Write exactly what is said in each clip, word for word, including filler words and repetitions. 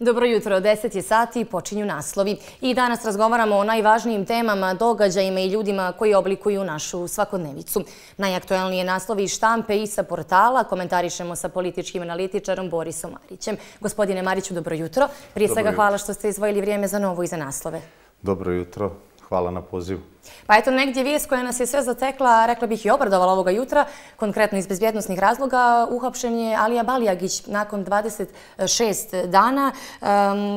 Dobro jutro, deset je sati, počinju naslovi. I danas razgovaramo o najvažnijim temama, događajima i ljudima koji oblikuju našu svakodnevicu. Najaktuelnije naslovi iz štampe i sa portala komentarišemo sa političkim analitičarom Borisom Marićem. Gospodine Mariću, dobro jutro. Prije svega hvala što ste izdvojili vrijeme za Novu i za naslove. Dobro jutro. Hvala na pozivu. Pa eto, negdje vijest koja nas je sve zatekla, rekla bih i obradovala ovoga jutra, konkretno iz bezbjednosnih razloga, uhapšen je Alija Balijagić nakon dvadeset šest dana, um,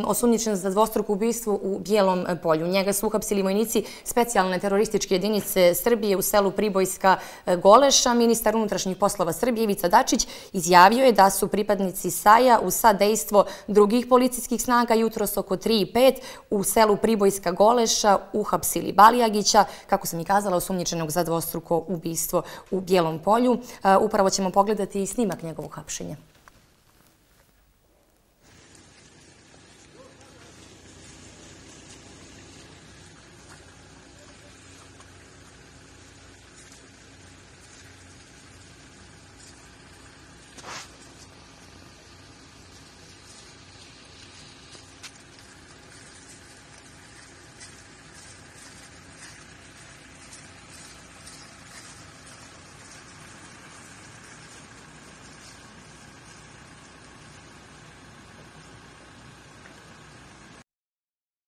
osumnjičen za dvostruko ubistvo u Bijelom Polju. Njega su uhapsili vojnici specijalne terorističke jedinice Srbije u selu Pribojska Goleša. Ministar unutrašnjih poslova Srbije Ivica Dačić izjavio je da su pripadnici S A J-a uz sadejstvo drugih policijskih snaga jutros oko tri i pet u selu Pribojska Goleša uhapsili Balijagića, kako sam i kazala, osumnjičenog za dvostruko ubistvo u Bijelom Polju. Upravo ćemo pogledati i snimak njegovog hapšenja.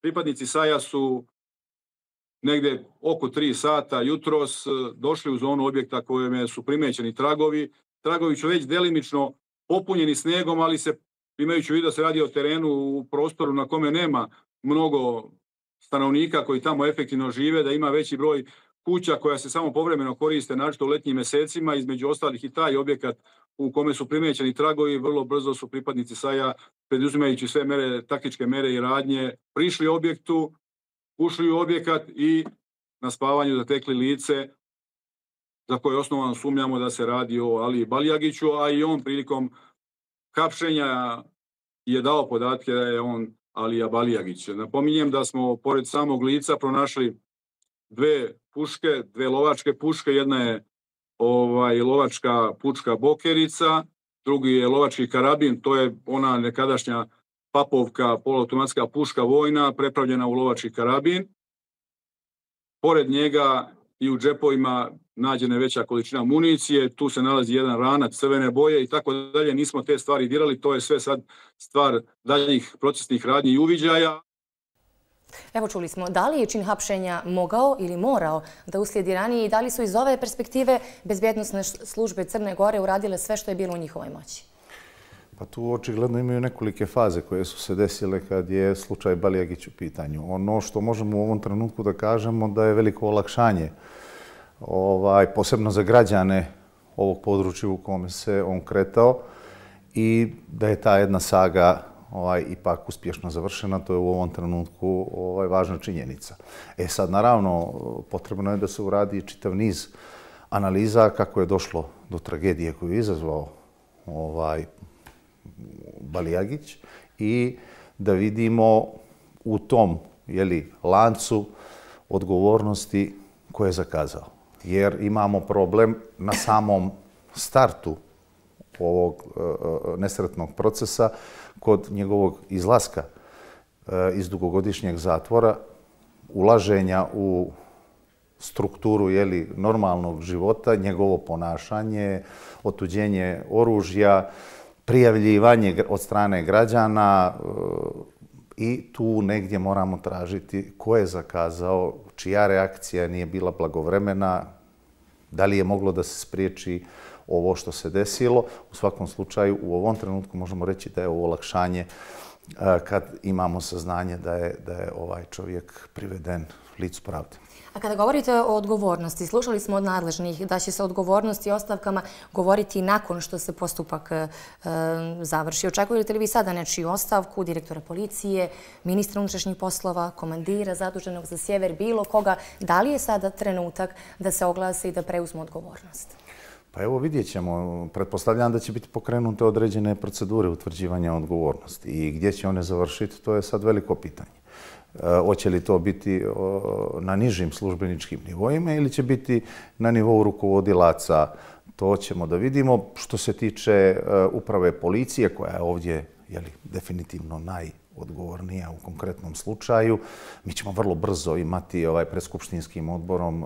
Pripadnici S A J-a su negdje oko tri sata jutros došli u zonu objekta kojem su primećeni tragovi. Tragovi su već delimično popunjeni snegom, ali se, imajući u vidu da se radi o terenu u prostoru na kome nema mnogo stanovnika koji tamo efektivno žive, da ima veći broj kuća koja se samo povremeno koriste, naročito u letnjim mjesecima, između ostalih i taj objekat u kome su primećeni tragovi. Vrlo brzo su pripadnici S A J-a, preduzimajući sve mere, taktičke mere i radnje, prišli objektu, ušli u objekat i na spavanju zatekli lice za koje osnovano sumnjamo da se radi o Aliji Balijagiću, a i on prilikom hapšenja je dao podatke da je on Alija Balijagić. Napominjem da smo pored samog lica pronašli dve puške, dve lovačke puške. Jedna je ovaj, lovačka puška Bokerica, drugi je lovački karabin, to je ona nekadašnja papovka, poluautomatska puška vojna, prepravljena u lovački karabin. Pored njega i u džepovima nađena je veća količina municije, tu se nalazi jedan ranac crvene boje i tako dalje. Nismo te stvari dirali, to je sve sad stvar daljih procesnih radnji i uviđaja. Evo čuli smo, da li je čin hapšenja mogao ili morao da uslijedi ranije i da li su iz ove perspektive bezbjednosne službe Crne Gore uradile sve što je bilo u njihovoj moći? Pa tu očigledno imaju nekolike faze koje su se desile kad je slučaj Balijagić u pitanju. Ono što možemo u ovom trenutku da kažemo da je veliko olakšanje, ovaj, posebno za građane ovog područja u kome se on kretao i da je ta jedna saga ovaj, ipak uspješno završena, to je u ovom trenutku ovaj, važna činjenica. E sad, naravno, potrebno je da se uradi čitav niz analiza kako je došlo do tragedije koju je izazvao ovaj, Balijagić i da vidimo u tom jeli, lancu odgovornosti koje je zakazao. Jer imamo problem na samom startu ovog uh, nesretnog procesa kod njegovog izlaska uh, iz dugogodišnjeg zatvora, ulaženja u strukturu jeli, normalnog života, njegovo ponašanje, otuđenje oružja, prijavljivanje od strane građana uh, i tu negdje moramo tražiti ko je zakazao, čija reakcija nije bila blagovremena, da li je moglo da se spriječi ovo što se desilo. U svakom slučaju, u ovom trenutku možemo reći da je ovo olakšanje kad imamo saznanje da je, da je ovaj čovjek priveden licu pravde. A kada govorite o odgovornosti, slušali smo od nadležnih da će se o odgovornosti i ostavkama govoriti nakon što se postupak e, završi. Očekujete li vi sada nečiju ostavku, direktora policije, ministra unutrašnjih poslova, komandira zaduženog za sjever, bilo koga? Da li je sada trenutak da se oglase i da preuzmu odgovornost? Pa evo vidjet ćemo. Pretpostavljam da će biti pokrenute određene procedure utvrđivanja odgovornosti i gdje će one završiti, to je sad veliko pitanje. Hoće li to biti na nižim službeničkim nivoima ili će biti na nivou rukovodilaca, to ćemo da vidimo. Što se tiče uprave policije, koja je ovdje jeli, definitivno odgovornija u konkretnom slučaju. Mi ćemo vrlo brzo imati ovaj, pred Skupštinskim odborom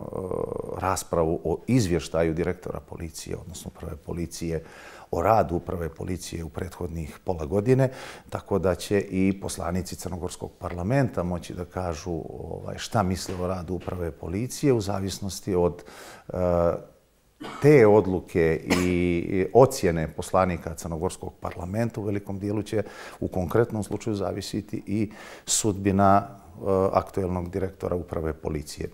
raspravu o izvještaju direktora policije, odnosno uprave policije, o radu uprave policije u prethodnih pola godine, tako da će i poslanici Crnogorskog parlamenta moći da kažu ovaj, šta misle o radu uprave policije u zavisnosti od uh, te odluke i ocjene poslanika Crnogorskog parlamenta. U velikom dijelu će u konkretnom slučaju zavisiti i sudbina uh, aktuelnog direktora uprave policije.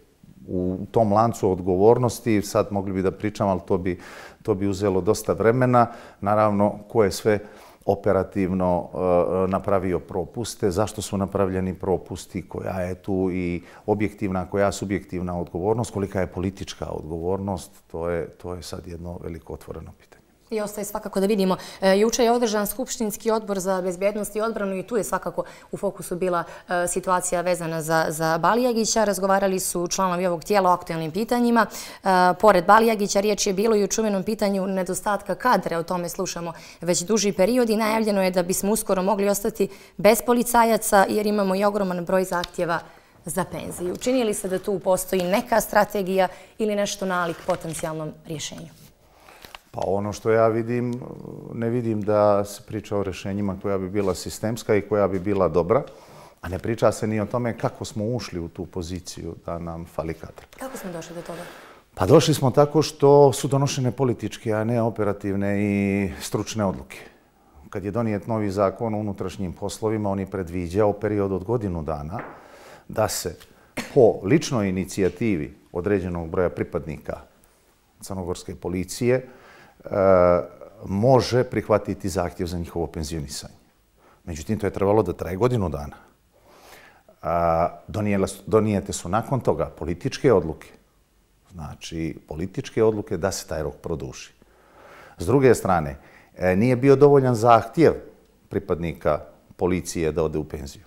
U tom lancu odgovornosti, sad mogli bi da pričam, ali to bi, to bi uzelo dosta vremena. Naravno, ko je sve operativno uh, napravio propuste, zašto su napravljeni propusti, koja je tu i objektivna, koja je subjektivna odgovornost, kolika je politička odgovornost, to je, to je sad jedno veliko otvoreno pitanje. I ostaje svakako da vidimo. Juče je održan Skupštinski odbor za bezbjednost i odbranu i tu je svakako u fokusu bila situacija vezana za, za Balijagića. Razgovarali su članovi ovog tijela o aktualnim pitanjima. Pored Balijagića riječ je bilo i o čuvenom pitanju nedostatka kadra. O tome slušamo već duži period i najavljeno je da bismo uskoro mogli ostati bez policajaca jer imamo i ogroman broj zahtjeva za penziju. Čini li se da tu postoji neka strategija ili nešto nalik potencijalnom rješenju? Pa ono što ja vidim, ne vidim da se priča o rješenjima koja bi bila sistemska i koja bi bila dobra, a ne priča se ni o tome kako smo ušli u tu poziciju da nam fali kadra. Kako smo došli do toga? Pa došli smo tako što su donošene političke, a ne operativne i stručne odluke. Kad je donijet novi zakon o unutrašnjim poslovima, on je predviđao period od godinu dana da se po ličnoj inicijativi određenog broja pripadnika crnogorske policije može prihvatiti zahtjev za njihovo penzionisanje. Međutim, to je trebalo da traje godinu dana. Donijete su nakon toga političke odluke. Znači, političke odluke da se taj rok produži. S druge strane, nije bio dovoljan zahtjev pripadnika policije da ode u penziju.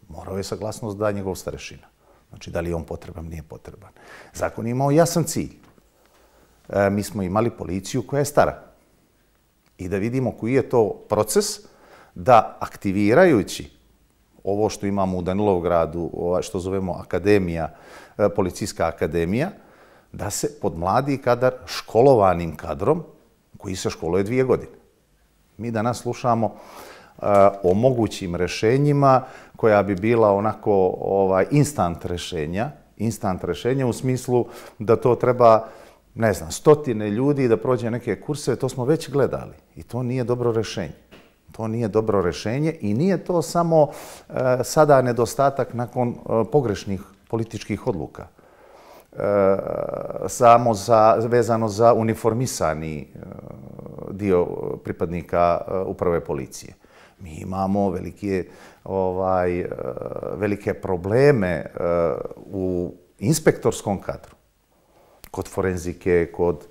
Morao je saglasnost da njegov starešina. Znači, da li je on potreban, nije potreban. Zakon je imao jasan cilj. Mi smo imali policiju koja je stara. I da vidimo koji je to proces da aktivirajući ovo što imamo u Danilovgradu, što zovemo akademija, policijska akademija, da se pod mladi kadar školovanim kadrom koji se školuje dvije godine. Mi danas slušamo o mogućim rešenjima koja bi bila onako ovaj, instant rešenja, instant rešenja u smislu da to treba ne znam, stotine ljudi da prođe neke kurse, to smo već gledali. I to nije dobro rešenje. To nije dobro rešenje i nije to samo e, sada nedostatak nakon e, pogrešnih političkih odluka. E, samo za, vezano za uniformisani e, dio pripadnika e, uprave policije. Mi imamo velike, ovaj, e, velike probleme e, u inspektorskom kadru. Kod forenzike, kod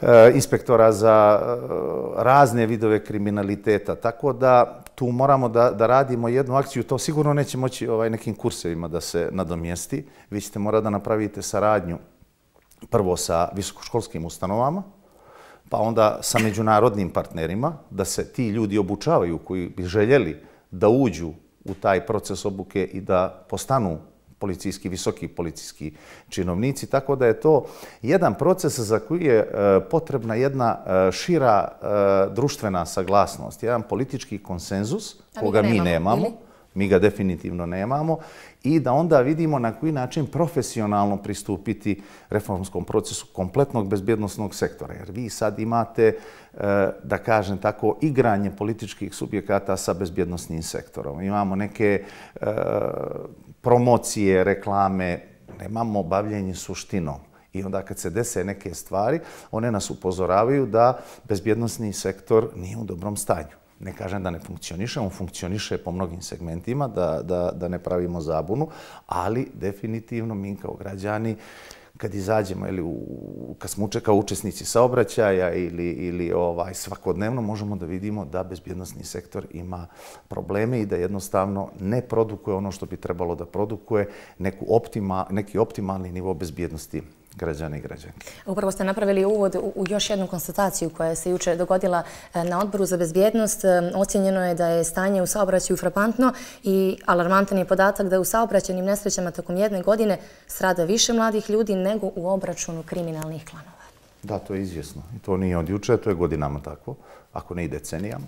e, inspektora za e, razne vidove kriminaliteta. Tako da tu moramo da, da radimo jednu akciju. To sigurno neće moći ovaj, nekim kursevima da se nadomjesti. Vi ćete morati da napravite saradnju prvo sa visokoškolskim ustanovama, pa onda sa međunarodnim partnerima, da se ti ljudi obučavaju koji bi željeli da uđu u taj proces obuke i da postanu policijski, visoki policijski činovnici, tako da je to jedan proces za koji je potrebna jedna šira društvena saglasnost, jedan politički konsenzus, koga mi nemamo, mi ga definitivno nemamo, i da onda vidimo na koji način profesionalno pristupiti reformskom procesu kompletnog bezbjednosnog sektora. Jer vi sad imate, da kažem tako, igranje političkih subjekata sa bezbjednosnim sektorom. Imamo neke promocije, reklame, nemamo bavljenje suštinom. I onda kad se dese neke stvari, one nas upozoravaju da bezbjednosni sektor nije u dobrom stanju. Ne kažem da ne funkcioniše, on funkcioniše po mnogim segmentima, da, da, da ne pravimo zabunu, ali definitivno mi kao građani, kad izađemo, ili u, kad smo kao učesnici saobraćaja ili, ili ovaj, svakodnevno, možemo da vidimo da bezbjednosni sektor ima probleme i da jednostavno ne produkuje ono što bi trebalo da produkuje, neku optima, neki optimalni nivo bezbjednosti građane i građanke. Upravo ste napravili uvod u još jednu konstataciju koja se jučer dogodila na Odboru za bezbjednost. Ocjenjeno je da je stanje u saobraćaju frapantno i alarmantan je podatak da u saobraćajnim nesrećama tokom jedne godine strada više mladih ljudi nego u obračunu kriminalnih klanova. Da, to je izvjesno. I to nije od juče, to je godinama tako, ako ne i decenijama.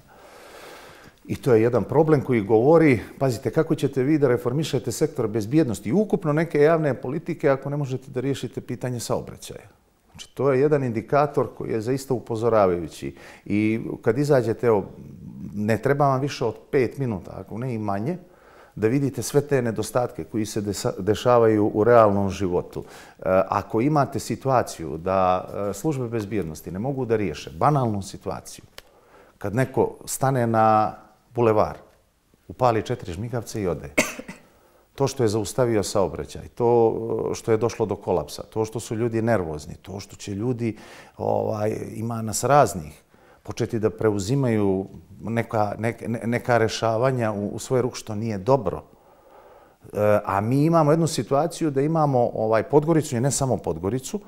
I to je jedan problem koji govori, pazite, kako ćete vi da reformišete sektor bezbjednosti i ukupno neke javne politike ako ne možete da riješite pitanje saobraćaja. Znači, to je jedan indikator koji je zaista upozoravajući. I kad izađete, evo, ne treba vam više od pet minuta, ako ne i manje, da vidite sve te nedostatke koji se dešavaju u realnom životu. Ako imate situaciju da službe bezbjednosti ne mogu da riješe banalnu situaciju, kad neko stane na bulevar, upali četiri žmigavca i ode. To što je zaustavio saobraćaj, to što je došlo do kolapsa, to što su ljudi nervozni, to što će ljudi, ovaj, ima nas raznih, početi da preuzimaju neka, neka, neka rešavanja u, u svoj ruk, što nije dobro. E, a mi imamo jednu situaciju da imamo ovaj, Podgoricu i ne samo Podgoricu,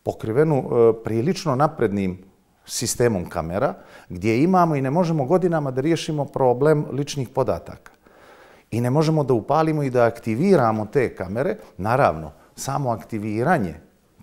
pokrivenu e, prilično naprednim sistemom kamera, gdje imamo i ne možemo godinama da riješimo problem ličnih podataka. I ne možemo da upalimo i da aktiviramo te kamere. Naravno, samo aktiviranje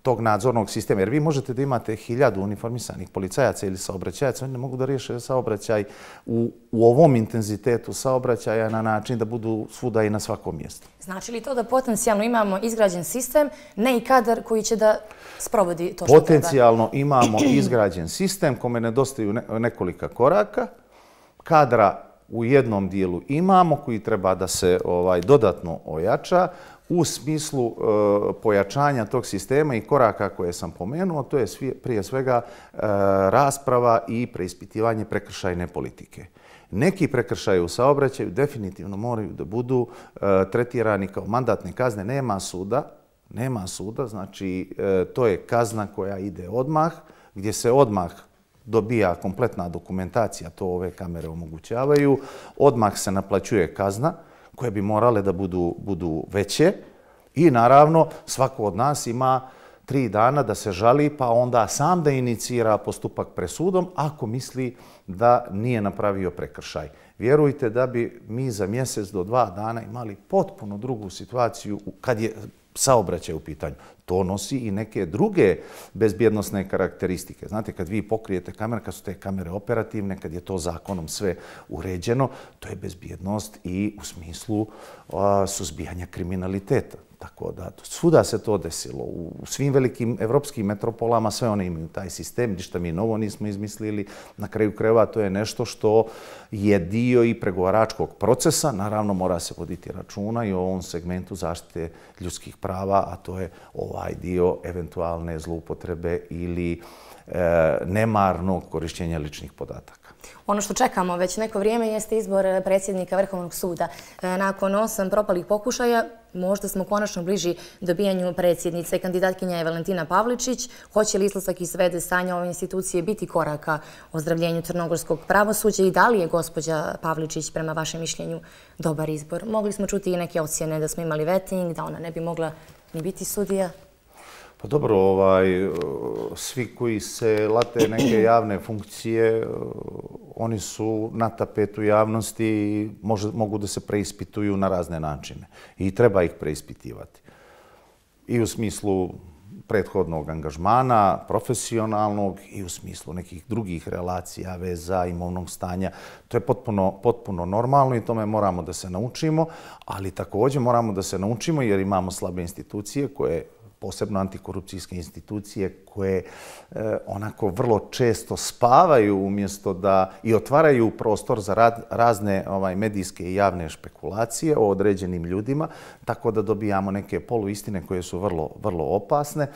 tog nadzornog sistema, jer vi možete da imate hiljadu uniformisanih policajaca ili saobraćajaca, oni ne mogu da riješe saobraćaj u, u ovom intenzitetu saobraćaja na način da budu svuda i na svakom mjestu. Znači li to da potencijalno imamo izgrađen sistem, ne i kadar koji će da sprovodi to što treba? Potencijalno imamo izgrađen sistem kome nedostaju nekolika koraka, kadra u jednom dijelu imamo koji treba da se ovaj, dodatno ojača u smislu e, pojačanja tog sistema i koraka koje sam pomenuo. To je svi, prije svega e, rasprava i preispitivanje prekršajne politike. Neki prekršaji u saobraćaju definitivno moraju da budu e, tretirani kao mandatne kazne. Nema suda, nema suda, znači e, to je kazna koja ide odmah, gdje se odmah dobija kompletna dokumentacija, to ove kamere omogućavaju, odmah se naplaćuje kazna koje bi morale da budu, budu veće i naravno svako od nas ima tri dana da se žali pa onda sam da inicira postupak pred sudom ako misli da nije napravio prekršaj. Vjerujte da bi mi za mjesec do dva dana imali potpuno drugu situaciju kad je saobraćaj u pitanju. To nosi i neke druge bezbjednosne karakteristike. Znate, kad vi pokrijete kamere, kad su te kamere operativne, kad je to zakonom sve uređeno, to je bezbjednost i u smislu a, suzbijanja kriminaliteta. Tako da, svuda se to desilo. U svim velikim evropskim metropolama sve one imaju taj sistem, ništa mi novo nismo izmislili. Na kraju krajeva to je nešto što je dio i pregovaračkog procesa. Naravno, mora se voditi računa i o ovom segmentu zaštite ljudskih prava, a to je ovaj dio eventualne zloupotrebe ili e, nemarnog korištenja ličnih podataka. Ono što čekamo već neko vrijeme jeste izbor predsjednika Vrhovnog suda. Nakon osam propalih pokušaja, možda smo konačno bliži dobijanju predsjednice. Kandidatkinja je Valentina Pavličić. Hoće li izlazak iz v d stanja ove institucije biti koraka ozdravljenju crnogorskog pravosuđa i da li je gospođa Pavličić prema vašem mišljenju dobar izbor? Mogli smo čuti i neke ocjene da smo imali vetting, da ona ne bi mogla ni biti sudija. Pa dobro, ovaj, svi koji se late neke javne funkcije, oni su na tapetu javnosti i može, mogu da se preispituju na razne načine. I treba ih preispitivati. I u smislu prethodnog angažmana, profesionalnog i u smislu nekih drugih relacija, veza, imovnog stanja. To je potpuno, potpuno normalno i tome moramo da se naučimo, ali također moramo da se naučimo jer imamo slabe institucije koje posebno antikorupcijske institucije koje e, onako vrlo često spavaju umjesto da i otvaraju prostor za rad, razne ovaj, medijske i javne špekulacije o određenim ljudima, tako da dobijamo neke poluistine koje su vrlo, vrlo opasne.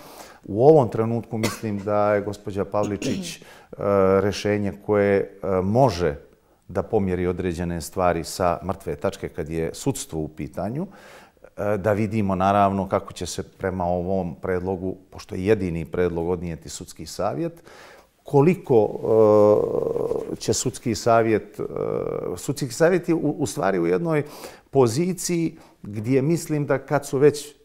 U ovom trenutku mislim da je gospođa Pavličić e, rešenje koje e, može da pomjeri određene stvari sa mrtve tačke kad je sudstvo u pitanju, da vidimo naravno kako će se prema ovom predlogu, pošto je jedini predlog, odnijeti sudski savjet, koliko uh, će sudski savjet, uh, sudski savjet je u, u stvari u jednoj poziciji gdje mislim da kad su već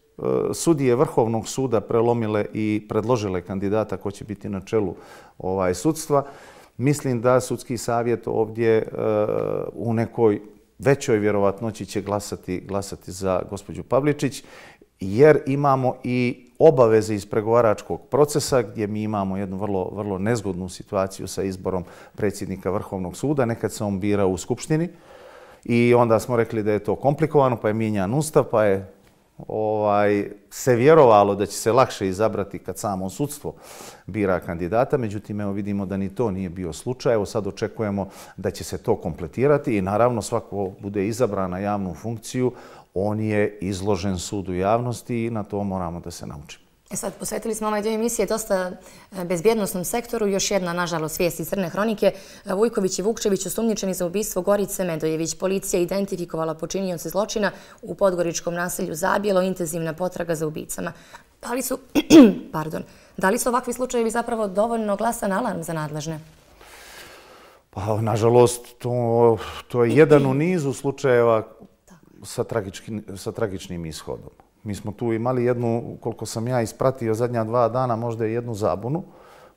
sudije Vrhovnog suda prelomile i predložile kandidata ko će biti na čelu ovaj, sudstva, mislim da sudski savjet ovdje u nekoj većoj vjerovatnoći će glasati, glasati za gospođu Pavličić, jer imamo i obaveze iz pregovaračkog procesa gdje mi imamo jednu vrlo, vrlo nezgodnu situaciju sa izborom predsjednika Vrhovnog suda. Nekad se on bira u Skupštini i onda smo rekli da je to komplikovano, pa je mijenjan Ustav, pa je ovaj, se vjerovalo da će se lakše izabrati kad samo sudstvo bira kandidata. Međutim, evo vidimo da ni to nije bio slučaj. Evo sad očekujemo da će se to kompletirati i naravno svako bude izabran na javnu funkciju, on je izložen sudu javnosti i na to moramo da se naučimo. E sad, posvetili smo ovaj dio emisije dosta bezbjednosnom sektoru. Još jedna, nažalost, vijest iz Crne hronike. Vujković i Vukčević osumnjičeni za ubistvo Gorice Medojević. Policija identifikovala počinioce zločina u podgoričkom naselju Zabijelo, intenzivna potraga za ubicama. Da li su, pardon, da li su ovakvi slučajevi zapravo dovoljno glasan alarm za nadležne? Pa, nažalost, to, to je jedan u nizu slučajeva sa, tragički, sa tragičnim ishodom. Mi smo tu imali jednu, koliko sam ja ispratio zadnja dva dana, možda i jednu zabunu,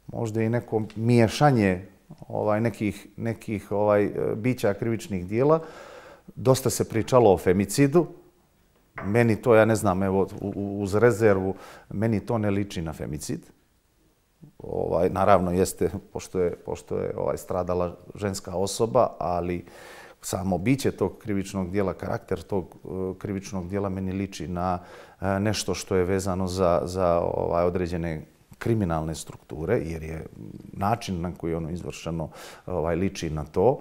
možda i neko miješanje ovaj, nekih, nekih ovaj, bića krivičnih dijela. Dosta se pričalo o femicidu. Meni to, ja ne znam, evo, uz rezervu, meni to ne liči na femicid. Ovaj, naravno, jeste, pošto je, pošto je ovaj, stradala ženska osoba, ali samo biće tog krivičnog dijela, karakter tog krivičnog dijela meni liči na nešto što je vezano za, za ovaj, određene kriminalne strukture, jer je način na koji je ono izvršeno ovaj, liči na to.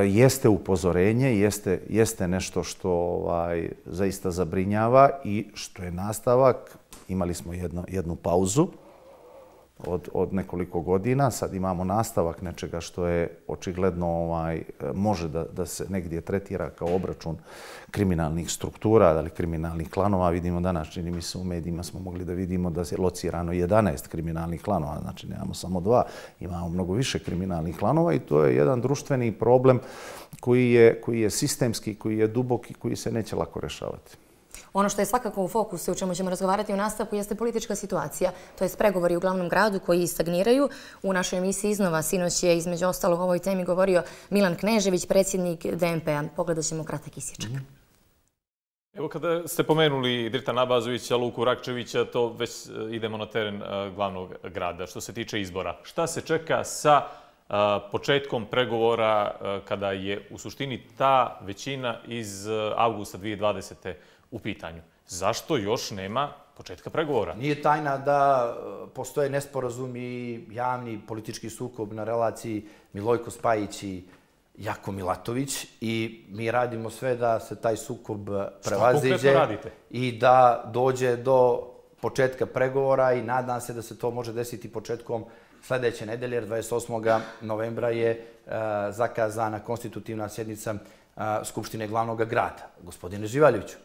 Jeste upozorenje, jeste, jeste nešto što ovaj, zaista zabrinjava i što je nastavak. Imali smo jedno, jednu pauzu Od, od nekoliko godina. Sad imamo nastavak nečega što je očigledno ovaj, može da, da se negdje tretira kao obračun kriminalnih struktura, ali kriminalnih klanova. Vidimo danas, čini mi se u medijima smo mogli da vidimo da je locirano jedanaest kriminalnih klanova, znači nemamo samo dva, imamo mnogo više kriminalnih klanova i to je jedan društveni problem koji je, koji je sistemski, koji je duboki, koji se neće lako rešavati. Ono što je svakako u fokusu, o čemu ćemo razgovarati u nastavku, jeste politička situacija. To je pregovori u glavnom gradu koji stagniraju. U našoj emisiji iznova sinoć je između ostalog o ovoj temi govorio Milan Knežević, predsjednik D N P-a. Pogledat ćemo kratak isječak. Evo kada ste pomenuli Dirta Abazovića, Luku Rakčevića, to već idemo na teren glavnog grada. Što se tiče izbora, šta se čeka sa početkom pregovora kada je u suštini ta većina iz avgusta dvije hiljade dvadesete u pitanju? Zašto još nema početka pregovora? Nije tajna da postoje nesporazum i javni politički sukob na relaciji Milojko Spajić i Jako Milatović i mi radimo sve da se taj sukob prevaziđe i da dođe do početka pregovora i nadam se da se to može desiti početkom sljedeće nedelje, jer dvadeset osmog novembra je zakazana konstitutivna sjednica Skupštine glavnog grada. Gospodine Živaljeviću,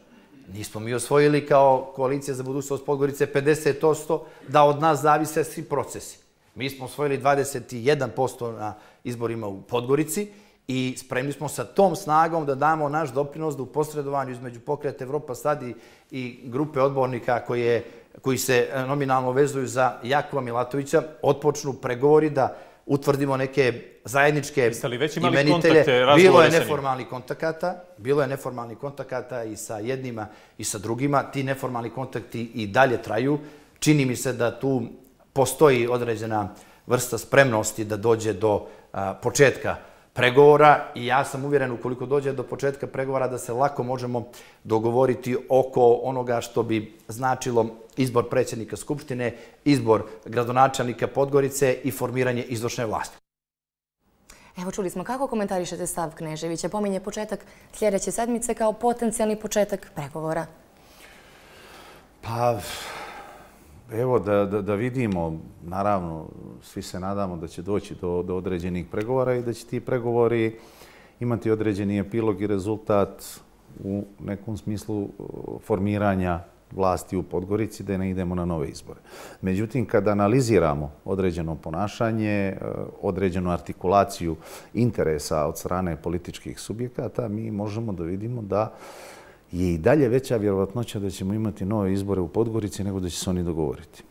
nismo mi osvojili kao koalicija za budućnost Podgorice pedeset posto da od nas zavise svi procesi. Mi smo osvojili dvadeset jedan posto na izborima u Podgorici i spremni smo sa tom snagom da damo naš doprinos da u posredovanju između Pokreta Evropa Sad i grupe odbornika koje, koji se nominalno vezuju za Jakova Milatovića otpočnu pregovori da utvrdimo neke zajedničke imenitelje. Bilo je neformalnih kontakata, bilo je neformalnih kontakata i sa jednima i sa drugima. Ti neformalni kontakti i dalje traju. Čini mi se da tu postoji određena vrsta spremnosti da dođe do a, početka pregovora i ja sam uvjeren ukoliko dođe do početka pregovora da se lako možemo dogovoriti oko onoga što bi značilo izbor predsjednika Skupštine, izbor gradonačelnika Podgorice i formiranje izvršne vlasti. Evo, čuli smo kako komentarišete stav Kneževića. Pominje početak sljedeće sedmice kao potencijalni početak pregovora. Pa, evo, da, da, da vidimo, naravno, svi se nadamo da će doći do, do određenih pregovora i da će ti pregovori imati određeni epilog i rezultat u nekom smislu formiranja vlasti u Podgorici, da ne idemo na nove izbore. Međutim, kada analiziramo određeno ponašanje, određenu artikulaciju interesa od strane političkih subjekata, mi možemo da vidimo da je i dalje veća vjerovatnoća da ćemo imati nove izbore u Podgorici nego da će se oni dogovoriti.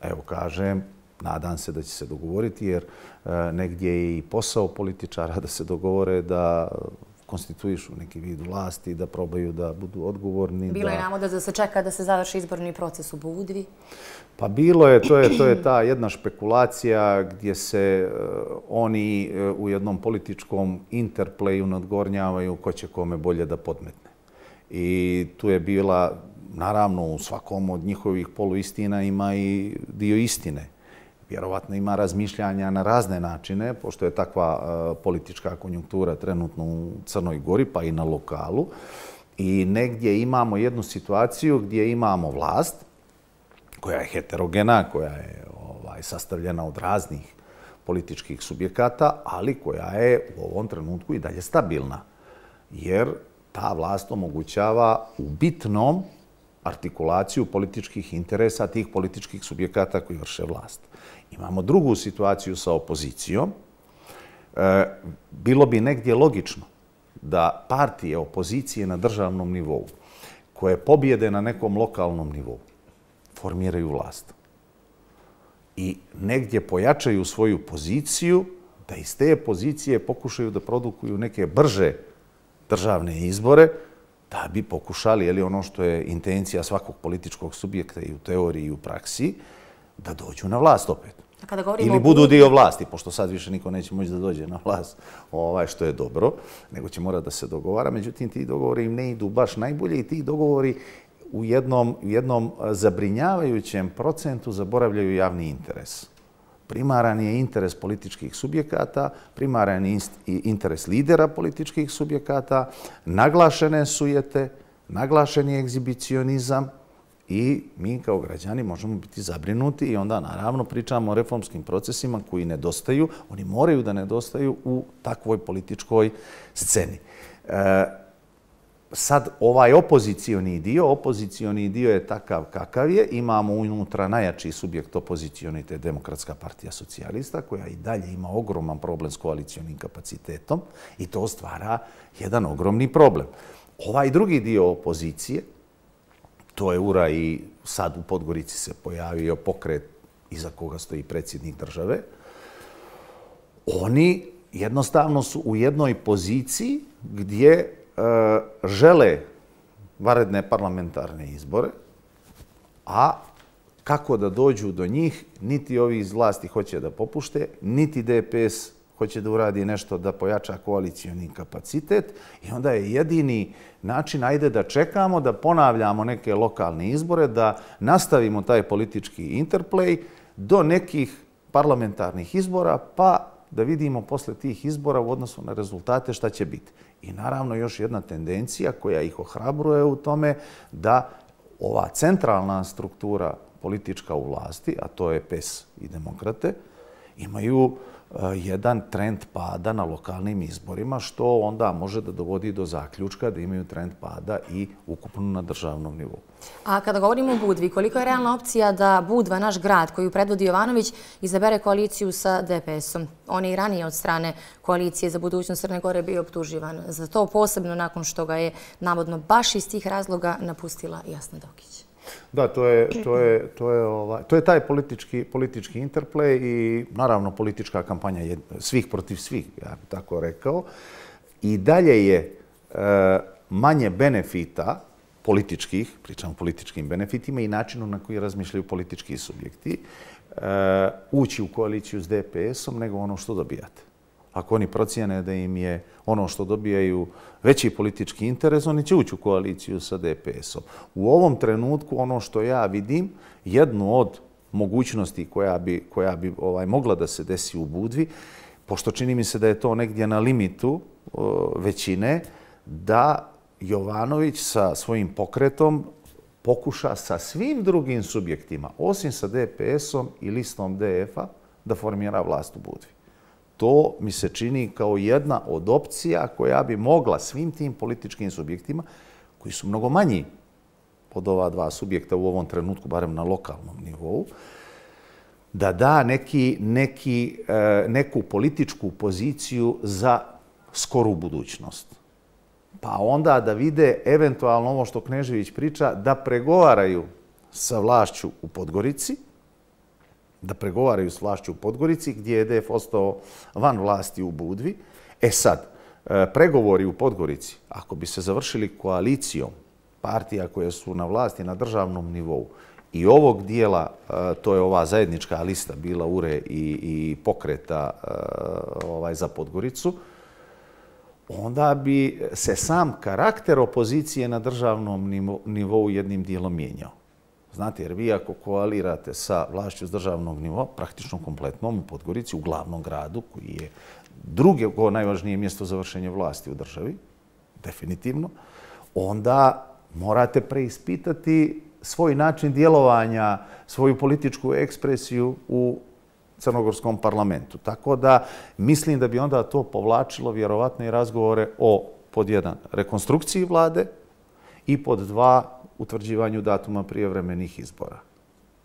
Evo kažem, nadam se da će se dogovoriti jer negdje je i posao političara da se dogovore, da konstituišu neki vid vlasti, da probaju da budu odgovorni. Bilo je navoda da se čeka da se završi izborni proces u Budvi. Pa bilo je, to je, to je ta jedna špekulacija gdje se oni u jednom političkom interplayu nadgornjavaju ko će kome bolje da podmetne. I tu je bila, naravno, u svakom od njihovih poluistina ima i dio istine. Vjerovatno ima razmišljanja na razne načine, pošto je takva politička konjunktura trenutno u Crnoj Gori, pa i na lokalu. I negdje imamo jednu situaciju gdje imamo vlast koja je heterogena, koja je ovaj, sastavljena od raznih političkih subjekata, ali koja je u ovom trenutku i dalje stabilna. Jer ta vlast omogućava u bitnom artikulaciju političkih interesa tih političkih subjekata koji vrše vlast. Imamo drugu situaciju sa opozicijom. E, bilo bi negdje logično da partije opozicije na državnom nivou koje pobjede na nekom lokalnom nivou formiraju vlast i negdje pojačaju svoju poziciju, da iz te pozicije pokušaju da produkuju neke brže državne izbore, da bi pokušali, je li ono što je intencija svakog političkog subjekta i u teoriji i u praksi, da dođu na vlast opet. Ili budu dio vlasti, pošto sad više niko neće moći da dođe na vlast, ovaj, što je dobro, nego će morati da se dogovara. Međutim, ti dogovori im ne idu baš najbolje i ti dogovori u jednom, jednom zabrinjavajućem procentu zaboravljaju javni interes. Primaran je interes političkih subjekata, primaran je interes lidera političkih subjekata, naglašene sujete, naglašen je egzibicionizam i mi kao građani možemo biti zabrinuti i onda naravno pričamo o reformskim procesima koji nedostaju, oni moraju da nedostaju u takvoj političkoj sceni. E, Sad, ovaj opozicioni dio, opozicioni dio je takav kakav je. Imamo unutra najjači subjekt opozicioni, to je Demokratska partija socijalista, koja i dalje ima ogroman problem s koalicionim kapacitetom i to stvara jedan ogromni problem. Ovaj drugi dio opozicije, to je ura i sad u Podgorici se pojavio pokret iza koga stoji predsjednik države, oni jednostavno su u jednoj poziciji gdje žele vanredne parlamentarne izbore, a kako da dođu do njih, niti ovi iz vlasti hoće da popušte, niti D P S hoće da uradi nešto da pojača koalicioni kapacitet i onda je jedini način, ajde da čekamo, da ponavljamo neke lokalne izbore, da nastavimo taj politički interplay do nekih parlamentarnih izbora, pa da vidimo posle tih izbora u odnosu na rezultate šta će biti. I naravno još jedna tendencija koja ih ohrabruje u tome da ova centralna struktura politička u vlasti, a to je P E S i Demokrate, imaju jedan trend pada na lokalnim izborima, što onda može da dovodi do zaključka da imaju trend pada i ukupno na državnom nivou. A kada govorimo o Budvi, koliko je realna opcija da Budva, naš grad koju predvodi Jovanović, izabere koaliciju sa D P S-om? On je i ranije od strane koalicije za budućnost Crne Gore bio optuživan za to, posebno nakon što ga je navodno baš iz tih razloga napustila Jasna Dokić. Da, to je, to je, to je, ovaj, to je taj politički, politički interplay i naravno politička kampanja svih protiv svih, ja bih tako rekao. I dalje je e, manje benefita političkih, pričam o političkim benefitima i načinu na koji razmišljaju politički subjekti, e, ući u koaliciju s D P S-om nego ono što dobijate. Ako oni procijene da im je ono što dobijaju veći politički interes, oni će ući u koaliciju sa D P S-om. U ovom trenutku ono što ja vidim, jednu od mogućnosti koja bi, koja bi ovaj, mogla da se desi u Budvi, pošto čini mi se da je to negdje na limitu o, većine, da Jovanović sa svojim pokretom pokuša sa svim drugim subjektima, osim sa D P S-om i listom D F-a, da formira vlast u Budvi. To mi se čini kao jedna od opcija koja bi mogla svim tim političkim subjektima, koji su mnogo manji od ova dva subjekta u ovom trenutku, barem na lokalnom nivou, da da neki, neki, neku političku poziciju za skoru budućnost. pa onda da vide eventualno ovo što Knežević priča, da pregovaraju sa vlašću u Podgorici, da pregovaraju s vlašću u Podgorici, gdje je D F ostao van vlasti u Budvi. E sad, pregovori u Podgorici, ako bi se završili koalicijom partija koje su na vlasti na državnom nivou i ovog dijela, to je ova zajednička lista bila U R E i, i pokreta ovaj, za Podgoricu, onda bi se sam karakter opozicije na državnom nivou jednim dijelom mijenjao. Znate, jer vi ako koalirate sa vlašću s državnog nivoa, praktično kompletnom u Podgorici, u glavnom gradu, koji je drugo najvažnije mjesto za vršenje vlasti u državi, definitivno, onda morate preispitati svoj način djelovanja, svoju političku ekspresiju u crnogorskom parlamentu. Tako da mislim da bi onda to povlačilo vjerovatno i razgovore o, pod jedan, rekonstrukciji vlade i pod dva, utvrđivanju datuma prijevremenih izbora.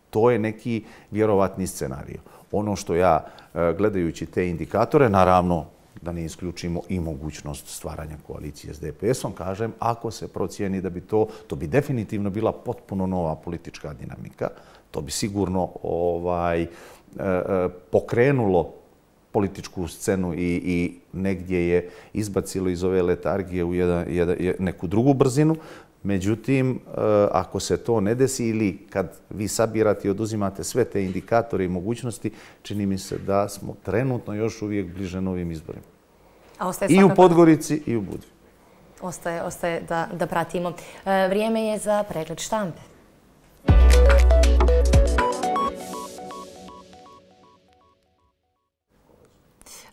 To je neki vjerovatni scenarij. Ono što ja, gledajući te indikatore, naravno da ne isključimo i mogućnost stvaranja koalicije s D P S-om, kažem, ako se procijeni da bi to, to bi definitivno bila potpuno nova politička dinamika, to bi sigurno ovaj, pokrenulo političku scenu i, i negdje je izbacilo iz ove letargije u jedan, jedan, neku drugu brzinu. Međutim, ako se to ne desi ili kad vi sabirate i oduzimate sve te indikatore i mogućnosti, čini mi se da smo trenutno još uvijek bliže novim izborima. A ostaje I svakako... u Podgorici i u Budvi. Ostaje, ostaje da, da pratimo. E, vrijeme je za pregled štampe.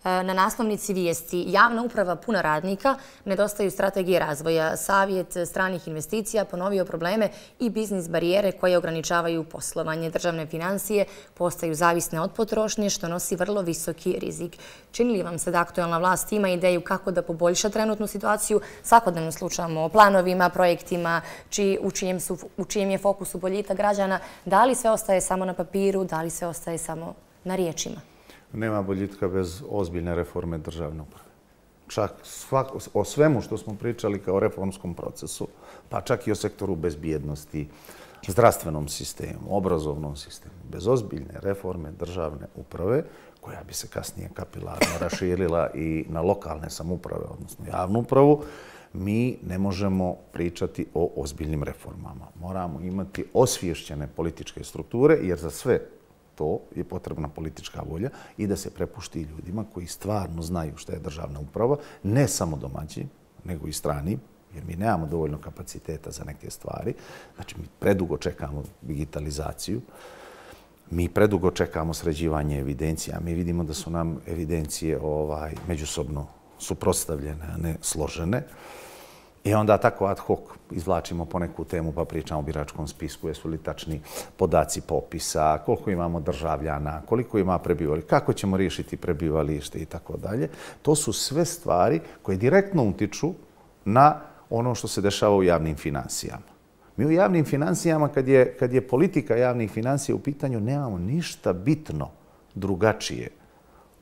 Na naslovnici vijesti javna uprava puna radnika, nedostaju strategije razvoja. Savjet stranih investicija ponovio probleme i biznis barijere koje ograničavaju poslovanje. Državne financije postaju zavisne od potrošnje, što nosi vrlo visoki rizik. Čini li vam se da aktualna vlast ima ideju kako da poboljša trenutnu situaciju? Svakodnevno slušamo o planovima, projektima, či, u, čijem su, u čijem je fokusu boljitak građana. Da li sve ostaje samo na papiru, da li sve ostaje samo na riječima? Nema boljitka bez ozbiljne reforme državne uprave. Čak svako, o svemu što smo pričali kao reformskom procesu, pa čak i o sektoru bezbjednosti, zdravstvenom sistemu, obrazovnom sistemu, bez ozbiljne reforme državne uprave, koja bi se kasnije kapilarno raširila i na lokalne samouprave, odnosno javnu upravu, mi ne možemo pričati o ozbiljnim reformama. Moramo imati osviješćene političke strukture, jer za sve to je potrebna politička volja i da se prepušti ljudima koji stvarno znaju šta je državna uprava, ne samo domaći, nego i strani, jer mi nemamo dovoljno kapaciteta za neke stvari. Znači, mi predugo čekamo digitalizaciju, mi predugo čekamo sređivanje evidencija, mi vidimo da su nam evidencije ovaj, međusobno suprotstavljene, a ne složene. I onda tako ad hoc izvlačimo po neku temu pa pričamo o biračkom spisku, jesu li tačni podaci popisa, koliko imamo državljana, koliko ima prebivališta, kako ćemo riješiti prebivalište i tako dalje. To su sve stvari koje direktno utiču na ono što se dešava u javnim financijama. Mi u javnim financijama, kad je, kad je politika javnih financija u pitanju, nemamo ništa bitno drugačije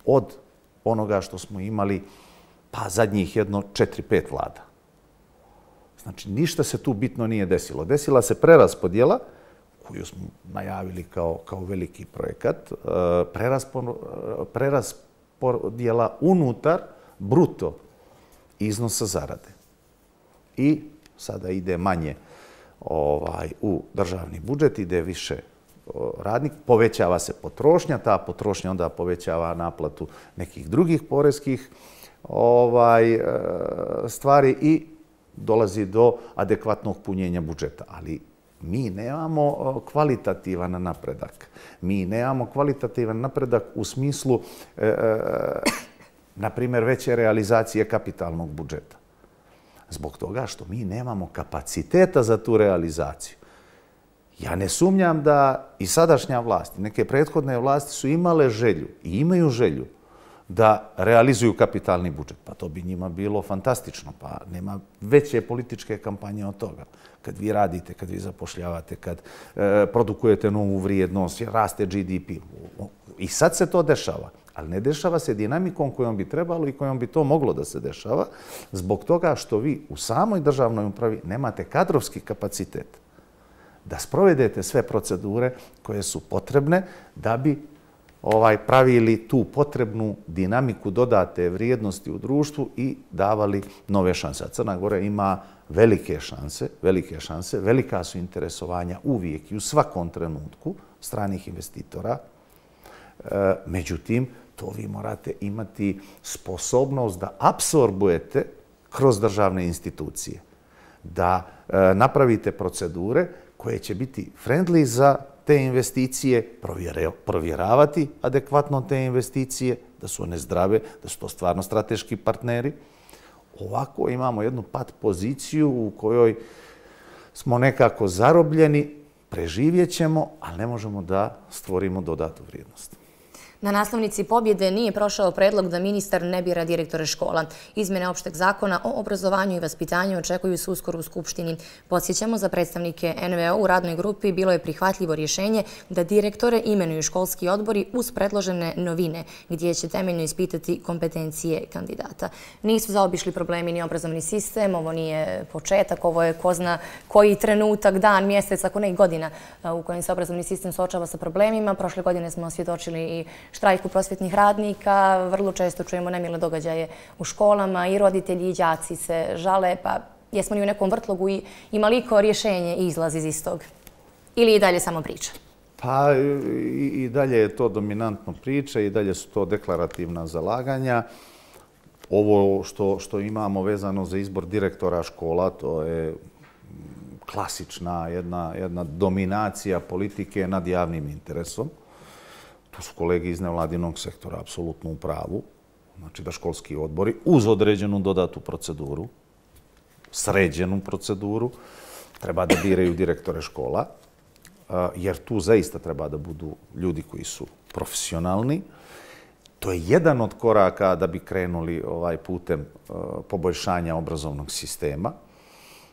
od onoga što smo imali pa zadnjih jedno četiri, pet vlada. Znači, ništa se tu bitno nije desilo. Desila se preraspodjela, koju smo najavili kao, kao veliki projekat, preraspodjela unutar bruto iznosa zarade. I sada ide manje ovaj, u državni budžet, ide više radnik, povećava se potrošnja, ta potrošnja onda povećava naplatu nekih drugih poreskih ovaj, stvari i dolazi do adekvatnog punjenja budžeta. Ali mi nemamo kvalitativan napredak. Mi nemamo kvalitativan napredak u smislu, e, e, na primjer, veće realizacije kapitalnog budžeta. Zbog toga što mi nemamo kapaciteta za tu realizaciju. Ja ne sumnjam da i sadašnja vlast, neke prethodne vlasti su imale želju i imaju želju da realizuju kapitalni budžet. Pa to bi njima bilo fantastično. Pa nema veće političke kampanje od toga. Kad vi radite, kad vi zapošljavate, kad e, produkujete novu vrijednost, raste G D P. I sad se to dešava. Ali ne dešava se dinamikom kojom bi trebalo i kojom bi to moglo da se dešava, zbog toga što vi u samoj državnoj upravi nemate kadrovski kapacitet da sprovedete sve procedure koje su potrebne da bi ovaj, pravili tu potrebnu dinamiku dodate vrijednosti u društvu i davali nove šanse. A Crna Gora ima velike šanse, velike šanse, velika su interesovanja uvijek i u svakom trenutku stranih investitora. E, međutim, to vi morate imati sposobnost da apsorbujete kroz državne institucije, da e, napravite procedure koje će biti friendly za te investicije, provjeravati adekvatno te investicije, da su one zdrave, da su to stvarno strateški partneri. Ovako imamo jednu pat poziciju u kojoj smo nekako zarobljeni, preživjet ćemo, ali ne možemo da stvorimo dodatu vrijednost. Na naslovnici pobjede nije prošao predlog da ministar ne bira direktore škola. Izmjene opšteg zakona o obrazovanju i vaspitanju očekuju se uskoro u Skupštini. Podsjećamo, za predstavnike N V O u radnoj grupi bilo je prihvatljivo rješenje da direktore imenuju školski odbori uz predložene novine, gdje će temeljno ispitati kompetencije kandidata. Nisu zaobišli problemi ni obrazovni sistem, ovo nije početak, ovo je ko zna koji trenutak, dan, mjesec, ako ne i godina u kojem se obrazovni sistem suočava sa problemima. Prošle godine smo svjedočili i štrajku prosvjetnih radnika, vrlo često čujemo nemile događaje u školama i roditelji i đaci se žale, pa jesmo li u nekom vrtlogu i ima li ko rješenje i izlaz iz istog? Ili i dalje samo priča? Pa i, i dalje je to dominantno priča i dalje su to deklarativna zalaganja. Ovo što, što imamo vezano za izbor direktora škola, to je klasična jedna, jedna dominacija politike nad javnim interesom. Tu su kolege iz nevladinog sektora apsolutno u pravu. Znači da školski odbori uz određenu dodatu proceduru, sređenu proceduru, treba da biraju direktore škola, jer tu zaista treba da budu ljudi koji su profesionalni. To je jedan od koraka da bi krenuli ovaj putem poboljšanja obrazovnog sistema.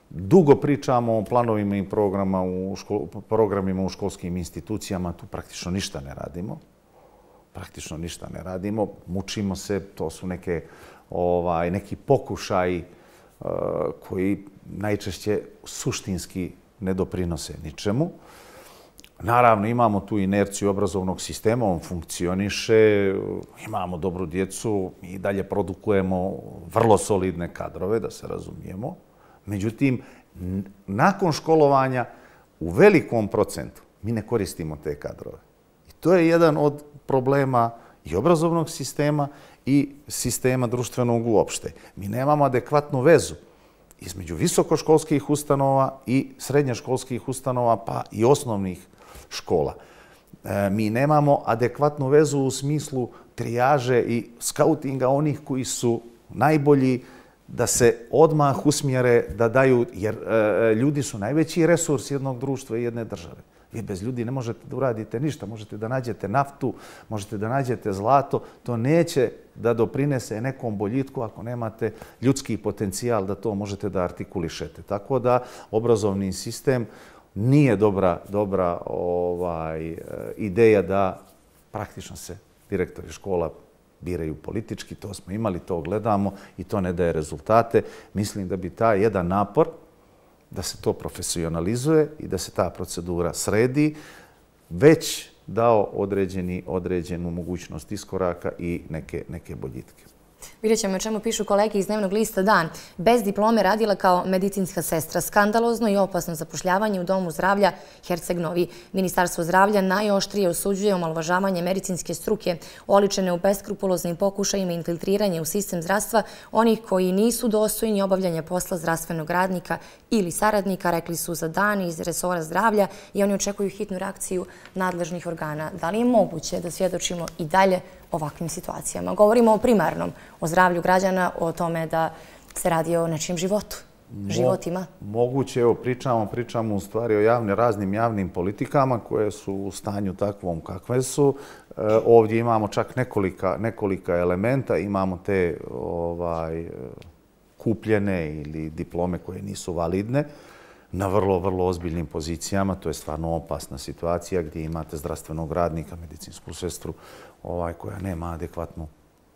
Dugo pričamo o planovima i programa u škol, programima u školskim institucijama, tu praktično ništa ne radimo. Praktično ništa ne radimo, mučimo se, to su neke, ovaj, neki pokušaji uh, koji najčešće suštinski ne doprinose ničemu. Naravno, imamo tu inerciju obrazovnog sistema, on funkcioniše, imamo dobru djecu i dalje produkujemo vrlo solidne kadrove, da se razumijemo. Međutim, nakon školovanja u velikom procentu mi ne koristimo te kadrove. I to je jedan od problema i obrazovnog sistema i sistema društvenog uopšte. Mi nemamo adekvatnu vezu između visokoškolskih ustanova i srednjoškolskih ustanova, pa i osnovnih škola. E, mi nemamo adekvatnu vezu u smislu trijaže i skautinga onih koji su najbolji, da se odmah usmjere, da daju, jer e, ljudi su najveći resurs jednog društva i jedne države. Vi bez ljudi ne možete da uradite ništa, možete da nađete naftu, možete da nađete zlato, to neće da doprinese nekom boljitku ako nemate ljudski potencijal da to možete da artikulišete. Tako da obrazovni sistem nije dobra, dobra ovaj, ideja da praktično se direktori škola biraju politički, to smo imali, to gledamo i to ne daje rezultate. Mislim da bi taj jedan napor da se to profesionalizuje i da se ta procedura sredi, već dao određeni, određenu mogućnost iskoraka i neke, neke boljitke. Vidjet ćemo o čemu pišu kolege iz dnevnog lista Dan. Bez diplome radila kao medicinska sestra. Skandalozno i opasno zapošljavanje u Domu zdravlja Herceg Novi. Ministarstvo zdravlja najoštrije osuđuje omalovažavanje medicinske struke, oličene u beskrupuloznim pokušajima infiltriranje u sistem zdravstva onih koji nisu dostojni obavljanja posla zdravstvenog radnika ili saradnika, rekli su za Dan iz resora zdravlja, i oni očekuju hitnu reakciju nadležnih organa. Da li je moguće da svjedočimo i dalje ovakvim situacijama? Govorimo o primarnom, o zdravlju građana, o tome da se radi o nečijem životu. životima? Moguće, evo, pričamo, pričamo u stvari o javnim, raznim javnim politikama koje su u stanju takvom kakve su. Ovdje imamo čak nekolika, nekolika elementa, imamo te ovaj, kupljene ili diplome koje nisu validne na vrlo, vrlo ozbiljnim pozicijama. To je stvarno opasna situacija gdje imate zdravstvenog radnika, medicinsku sestru ovaj, koja nema adekvatnu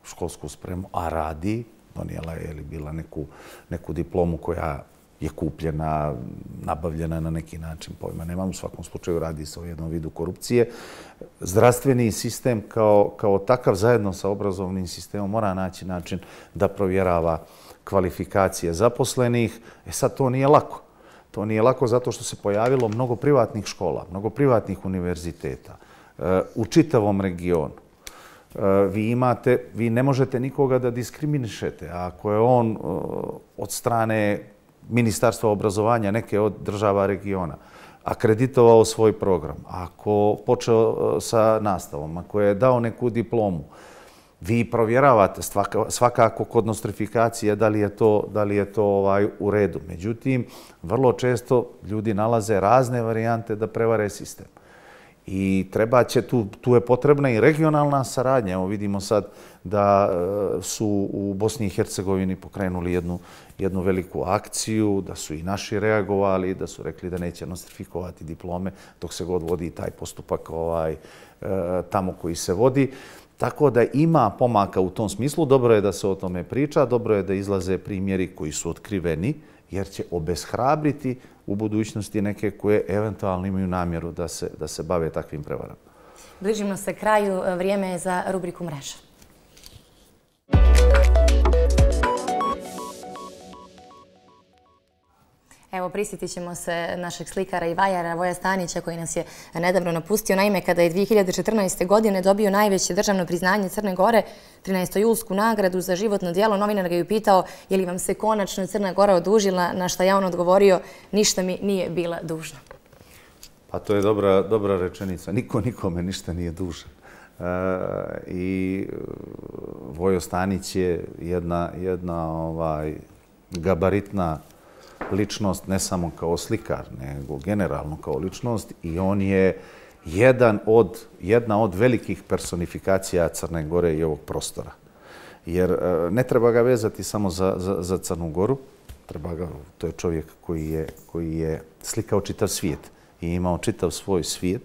školsku spremu, a radi, donijela je ili bila neku, neku diplomu koja je kupljena, nabavljena na neki način, pojma nemam, u svakom slučaju radi se o jednom vidu korupcije. Zdravstveni sistem kao, kao takav zajedno sa obrazovnim sistemom mora naći način da provjerava kvalifikacije zaposlenih. E sad to nije lako. To nije lako zato što se pojavilo mnogo privatnih škola, mnogo privatnih univerziteta u čitavom regionu. Vi imate, vi ne možete nikoga da diskriminišete. Ako je on od strane Ministarstva obrazovanja neke od država regiona akreditovao svoj program, ako počeo sa nastavom, ako je dao neku diplomu, vi provjeravate svakako kod nostrifikacije da li je to, da li je to ovaj, u redu. Međutim, vrlo često ljudi nalaze razne varijante da prevare sistem. I treba će, tu, tu je potrebna i regionalna saradnja. Evo vidimo sad da su u Bosni i Hercegovini pokrenuli jednu, jednu veliku akciju, da su i naši reagovali, da su rekli da neće nostrifikovati diplome dok se god vodi taj postupak ovaj, tamo koji se vodi. Tako da ima pomaka u tom smislu. Dobro je da se o tome priča, dobro je da izlaze primjeri koji su otkriveni, jer će obeshrabriti u budućnosti neke koje eventualno imaju namjeru da se, da se bave takvim prevarama. Bližimo se kraju, vrijeme je za rubriku Mreža. Evo, prisjetit ćemo se našeg slikara i vajara Voja Stanića koji nas je nedavno napustio. Naime, kada je dvije hiljade četrnaeste. godine dobio najveće državno priznanje Crne Gore, trinaestojulsku nagradu za životno djelo, novinar ga je upitao je li vam se konačno Crna Gora odužila, na šta je on odgovorio ništa mi nije bila dužna. Pa to je dobra, dobra rečenica. Niko nikome ništa nije dužan. E, I Vojo Stanić je jedna, jedna ovaj, gabaritna ličnost, ne samo kao slikar, nego generalno kao ličnost, i on je jedan od, jedna od velikih personifikacija Crne Gore i ovog prostora. Jer ne treba ga vezati samo za, za, za Crnu Goru, treba ga, to je čovjek koji je, koji je slikao čitav svijet i imao čitav svoj svijet,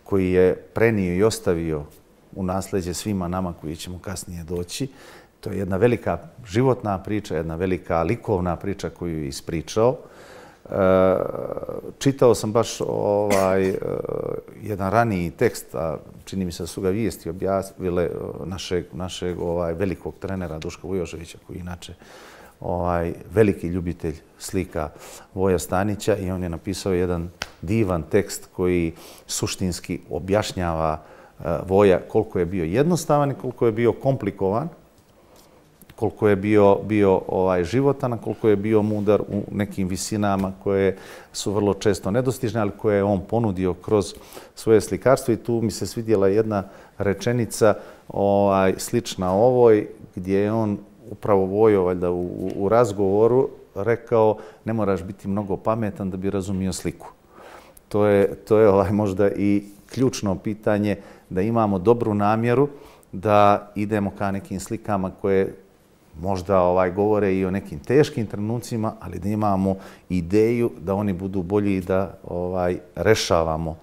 koji je prenio i ostavio u nasljeđe svima nama koji ćemo kasnije doći. To je jedna velika životna priča, jedna velika likovna priča koju je ispričao. Čitao sam baš ovaj, jedan raniji tekst, a čini mi se da su ga vijesti objavile našeg, našeg ovaj, velikog trenera Duška Vujoševića, koji je inače ovaj, veliki ljubitelj slika Voja Stanića, i on je napisao jedan divan tekst koji suštinski objašnjava Voja koliko je bio jednostavan i koliko je bio komplikovan, koliko je bio, bio ovaj, životan, koliko je bio mudar u nekim visinama koje su vrlo često nedostižne, ali koje je on ponudio kroz svoje slikarstvo. I tu mi se svidjela jedna rečenica ovaj, slična ovoj, gdje je on upravo Vojo valjda u, u razgovoru rekao ne moraš biti mnogo pametan da bi razumio sliku. To je, to je ovaj, možda i ključno pitanje, da imamo dobru namjeru, da idemo ka nekim slikama koje možda ovaj, govore i o nekim teškim trenucima, ali da imamo ideju da oni budu bolji i da ovaj, rešavamo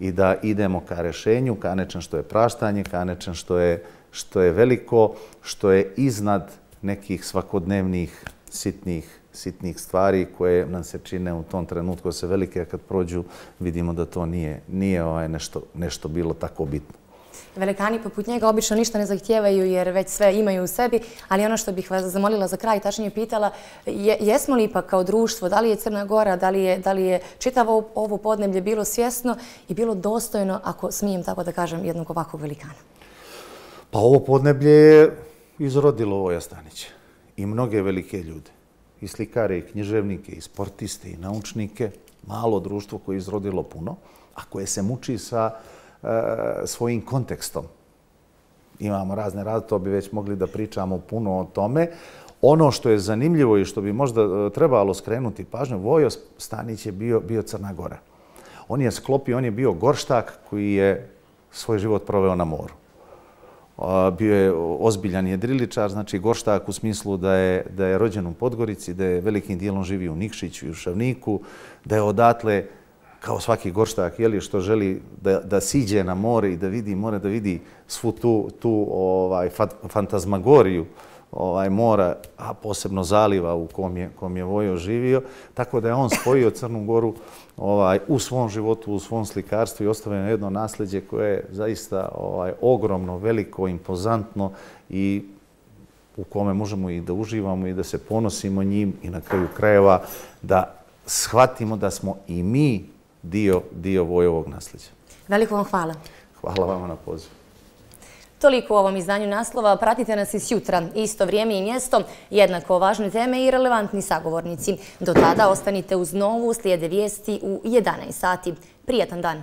i da idemo ka rešenju, ka nečem što je praštanje, ka nečem što je, što je veliko, što je iznad nekih svakodnevnih sitnih, sitnih stvari koje nam se čine u tom trenutku se velike, a kad prođu vidimo da to nije, nije ovaj, nešto, nešto bilo tako bitno. Velikani poput njega obično ništa ne zahtijevaju jer već sve imaju u sebi, ali ono što bih vas zamolila za kraj, tačnije pitala, je, jesmo li ipak kao društvo, da li je Crna Gora, da li je, da li je čitavo ovo podneblje bilo svjesno i bilo dostojno, ako smijem tako da kažem, jednog ovakvog velikana? Pa ovo podneblje je izrodilo Voja Stanića i mnoge velike ljude. I slikare, i književnike, i sportiste, i naučnike. Malo društvo koje je izrodilo puno, a koje se muči sa svojim kontekstom. Imamo razne razlike, to bi već mogli da pričamo puno o tome. Ono što je zanimljivo i što bi možda trebalo skrenuti pažnju, Vojo Stanić je bio, bio Crna Gora. On je sklopio, on je bio gorštak koji je svoj život proveo na moru. Bio je ozbiljan jedriličar, znači gorštak u smislu da je, da je rođen u Podgorici, da je velikim dijelom živio u Nikšiću i u Šavniku, da je odatle, kao svaki gorštak, jeli, što želi da, da siđe na more i da vidi more, da vidi svu tu, tu ovaj, fantazmagoriju ovaj, mora, a posebno zaliva u kom je, kom je Vojo živio. Tako da je on spojio Crnu Goru ovaj, u svom životu, u svom slikarstvu i ostavio jedno nasljeđe koje je zaista ovaj, ogromno, veliko, impozantno i u kome možemo i da uživamo i da se ponosimo njim i na kraju krajeva da shvatimo da smo i mi dio, dio Vojovog nasljeđa. Veliko vam hvala. Hvala vama na pozivu. Toliko u ovom izdanju naslova. Pratite nas i sutra. Isto vrijeme i mjesto, jednako važne teme i relevantni sagovornici. Do tada ostanite uz Novu, slijede vijesti u jedanaest sati. Prijatan dan!